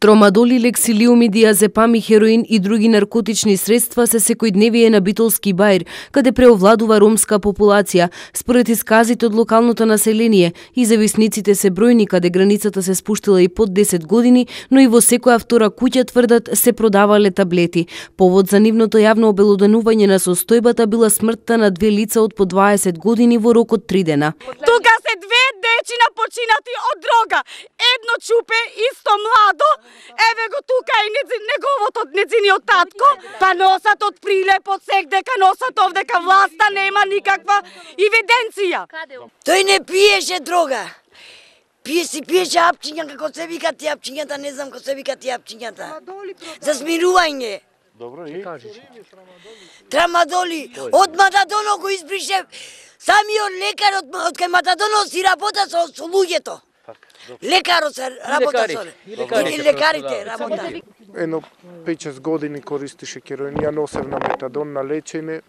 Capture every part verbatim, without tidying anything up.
Тромадол, лексилиум, диазепам и хероин и други наркотични средства се секојдневие на Битолски баир, каде преовладува ромска популација. Според исказите од локалното население, и зависниците се бројни, каде границата се спуштила и под десет години, но и во секоја втора куќа, тврдат, се продавале таблети. Повод за нивното јавно обелоденување на состојбата била смртта на две лица од по дваесет години во рок од три дена. Тука се две дечина починати од дрога. Едно чупе, исто младо, еве го тука и неговото неговиот татко, па носат од прилеп од сек дека носат овдека, власта нема никаква евиденција. Тој не пиеше дрога. Пие си пиеше апчиња, како се викат ти апчињата, не знам како се викат ти апчињата. За смирување. Добро, и Трамадоли. Од Матадоно го избрише самиот лекар од, од кај Матадоно си работа со, со луѓето. Лекарот се работа со и лекарите работа. Едно пет-шест години користише хероин, ја носев на метадон на лечење.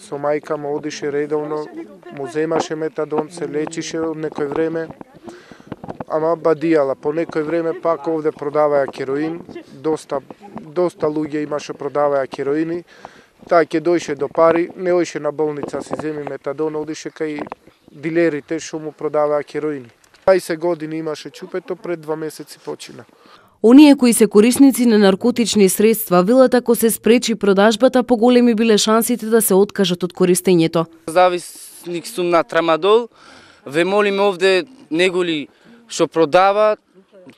Со мајка му одише редовно, му земаше метадон, се лечише од некој време. Ама бадијала, по некој време пак овде продаваја хероин, доста, доста луѓе имаше продаваја хероини. Таа ќе дојше до пари, не оише на болница, си земи метадон, одише кај дилерите што му продаваја хероини. дваесет години имаше чупето, пред два месеци почина. Оние кои се корисници на наркотични средства велат ако се спречи продажбата, поголеми биле шансите да се откажат од користењето. Зависник сум на трамадол, ве молим овде неголи што продава,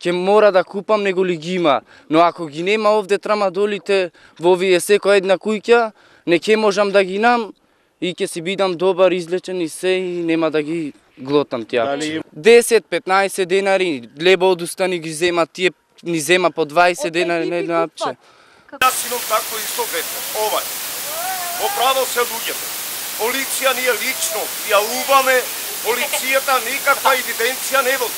ќе мора да купам, неголи ги има. Но ако ги нема овде трамадолите во овие секоја една куќа, не ќе можам да ги нам и ќе си бидам добар, излечен и се и нема да ги глотам тие. десет-петнаесет денари, лебо одустани ги зема тие, ни зема по дваесет денари на едно апче. Јас синам тако исто ветер, овај. Оправо се луѓето. Полиција ние лично јавуваме, полицијата никаква евиденција не води.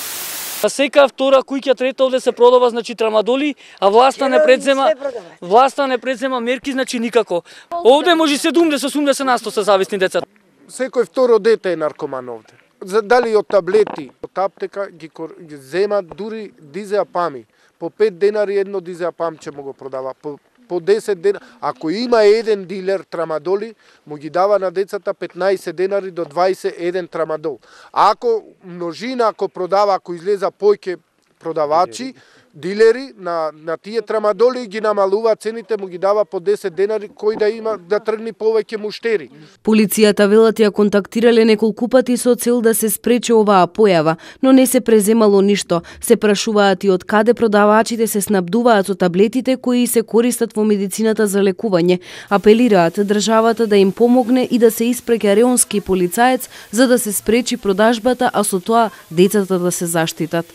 Сека втора куќа, трета овде се продава, значи трамадоли, а власта не предзема, власта не предзема мерки, значи никако. Овде може седумдесет-осумдесет на сто се зависни деца. Секој второ дете е наркоман овде. Дали од таблети, од аптека ги, ги земат дури дизеапами. По пет денари едно дизеапамче му го продава. По, по десет денари. Ако има еден дилер трамадоли, му ги дава на децата петнаесет денари до дваесет еден трамадол. А ако множина, ако продава, ако излеза појќе продавачи, дилери на, на тие трамадоли ги намалува цените, му ги дава по десет денари, кој да има да тргни повеќе муштери. Полицијата велат ја контактирале неколку пати со цел да се спречи оваа појава, но не се преземало ништо. Се прашуваат и од каде продавачите се снабдуваат со таблетите кои се користат во медицината за лекување. Апелираат државата да им помогне и да се испреќа реонски полицаец за да се спречи продажбата, а со тоа децата да се заштитат.